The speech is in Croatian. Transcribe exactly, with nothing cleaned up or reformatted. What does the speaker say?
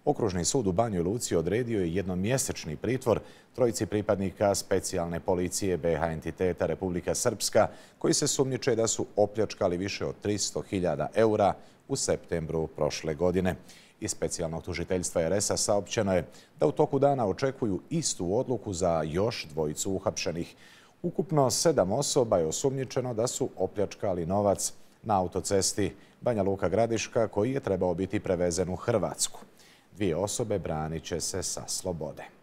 Okružni sud u Banjoj Luci odredio je jednomjesečni pritvor trojici pripadnika specijalne policije be ha entiteta Republika Srpska, koji se sumnjiče da su opljačkali više od tristo hiljada eura u septembru prošle godine. Iz specijalnog tužiteljstva er es a saopćeno je da u toku dana očekuju istu odluku za još dvojicu uhapšenih. Ukupno sedam osoba je osumnjičeno da su opljačkali novac na autocesti Banja Luka Gradiška, koji je trebao biti prevezen u Hrvatsku. Dvije osobe branit će se sa slobode.